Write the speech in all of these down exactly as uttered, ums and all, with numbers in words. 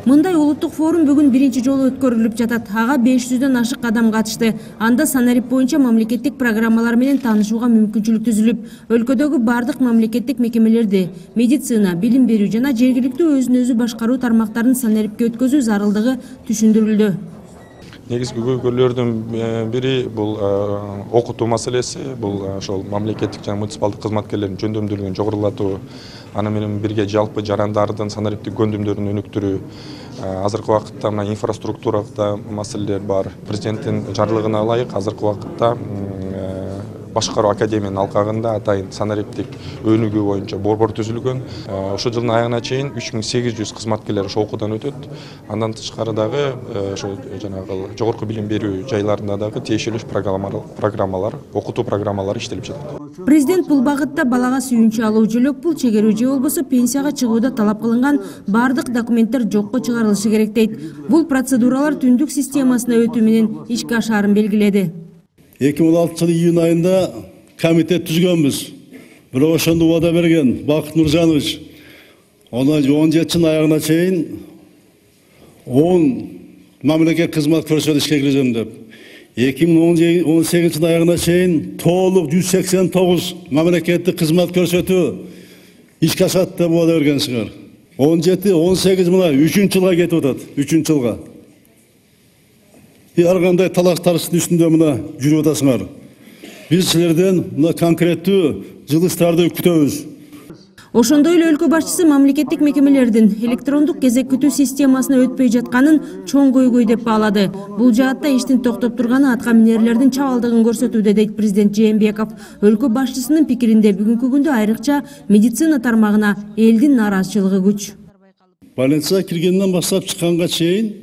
Мындай улуттук форум бүгүн биринчи жолу өткөрүлүп жатат. Ага беш жүздөн ашык адам катышты. Анда санарип боюнча мамлекеттик программалар менен таанышууга мүмкүнчүлүк түзүлүп, өлкөдөгү бардык мамлекеттик мекемелерди, медицина, билим берүү жана жергиликтүү өзүн өзү башкаруу тармактарын санарипке өткөзүү зарылдыгы түшүндүрүлдү. Негизги көйгөйлөрдүн бири бул окутуу маселеси, бул ошол мамлекеттик жана муниципалдык кызматкерлердин жөндөмдүүлүгүн жогорулатуу, аны менен бирге жалпы жарандардын санариптик көндүмдөрүн өнүктүрүү. Азыркы вакытта мына инфраструктурада маселелер бар. Президенттин жарлыгына ылайык азыркы вакытта башкаруу академиянын алкагында атайын санариптик өнүгүү боюнча борбор түзүлгөн. Ошол жылдын аягына чейин үч миң сегиз жүз кызматкерлер ошо окуудан өтөт. Андан тышкары дагы ошо жанагы жогорку билим берүү жайларында дагы тиешелүү программалар, окутуу программалары иштелип жатат. Президент бул багытта балага сүйүнчү алуу, жөлөк пул чегерүү же болбосо пенсияга чыгууда талап кылынган бардык документтер жокко чыгарылышы керек дейт. Бул процедуралар түндүк системасына өтүү менен ишке ашаарын белгиледи. эки миң он алтынчы жылы июнь айында комитет түзгөнбүз. Бирок ошондо убада берген Бакыт Нуржанович он жети жылдын аягына чейин он мамлекет кызмат көрсөтүп ишке киргизем деп. эки миң он сегизинчи жылдын аягына чейин толук жүз сексен тогуз мамлекеттик кызмат көрсөтүү ишке ашат деп убада бергенсиңер. он жети он сегиз мына үчүнчү жылга кетип атат. үчүнчү жылга. Ар кандай талаш тарыштын үстүндө мына жүрүп атасыңар. Биз силерден мына конкреттүү жылыштарды күтөбүз. Ошондой эле өлкө башчысы мамлекеттик мекемелердин электрондук кезек күтүү системасына өтпөй жатканын чоң көйгөй деп баалады. Бул жаатта иштин токтоп турганы атка минерлердин чабалдыгын көрсөтүүдө дейт президент Жээнбеков. Өлкө башчысынын пикиринде бүгүнкү күндө айрыкча медицина тармагына элдин нааразычылыгы күч. Больницага киргенден баштап чыкканга чейин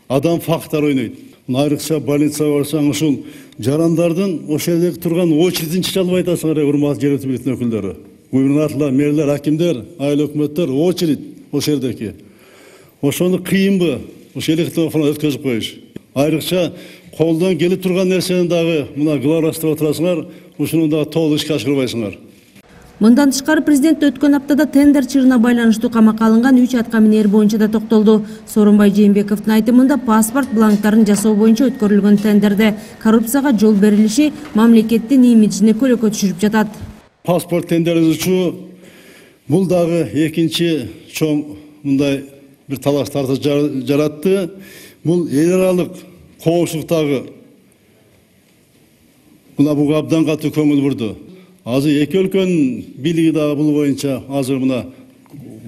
адам фактор ойнойт. Айрыкча больницага барсаң ушул жарандардын ошол жерде турган очередин чече албай атасыңар, урматтуу жергиликтүү бийликтин өкүлдөрү. Губернаторлор, мэрлер, акимдер, айыл өкмөттөр очередь ошол жердеки. Ошону кыйынбы ошол электрондук өткөзүп коюш. Айрыкча колдон келип турган нерсени дагы мына главврачтап отурасыңар, ушуну дагы толук ишке ашырбайсыңар. Мындан тышкары президент өткөн аптада тендер чырына байланыштуу камакка алынган үч атка минер боюнча да токтолду. Сооронбай Жээнбековдун айтымында паспорт бланктарын жасоо боюнча өткөрүлгөн тендерде коррупцияга жол берилиши мамлекеттин имиджине көлөкө түшүрүп жатат. Паспорт тендери учу бул дагы экинчи чоң мындай бир талаштарды жаратты. Бул эл аралык коопсуздуктагы мына буга абдан катуу көңүл бурду. Азыр эки өлкөнүн бийлиги дагы бул боюнча азыр мына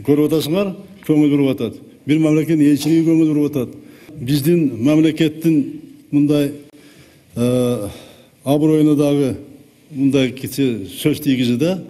көрүп атасыңар, көңүл буруп атат. Бир мамлекеттин элчилиги көңүл буруп атат. Биздин мамлекеттин мындай аброюна дагы мындай кичи сөз тийгизди да.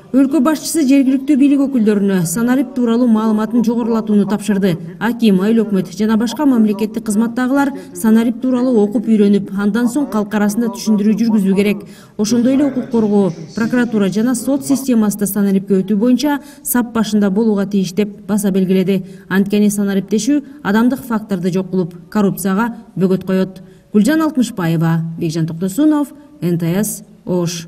Өлкө башчысы жергиликтүү бийлик өкүлдөрүнө санарип тууралуу маалыматын жогорулатууну тапшырды. Аким, айыл өкмөт жана башка мамлекеттик кызматтагылар санарип тууралуу окуп үйрөнүп, андан соң калк арасында түшүндүрүү жүргүзүү керек. Ошондой эле укук коргоо, прокуратура жана сот системасында санарипке өтүү боюнча сап башында болууга тийиш деп баса белгиледи. Анткени санариптешүү адамдык факторду жок кылып, коррупцияга бөгөт коет. Гүлжан Алтмышбаева, Бекжан Токтосунов, эн тэ эс Ош.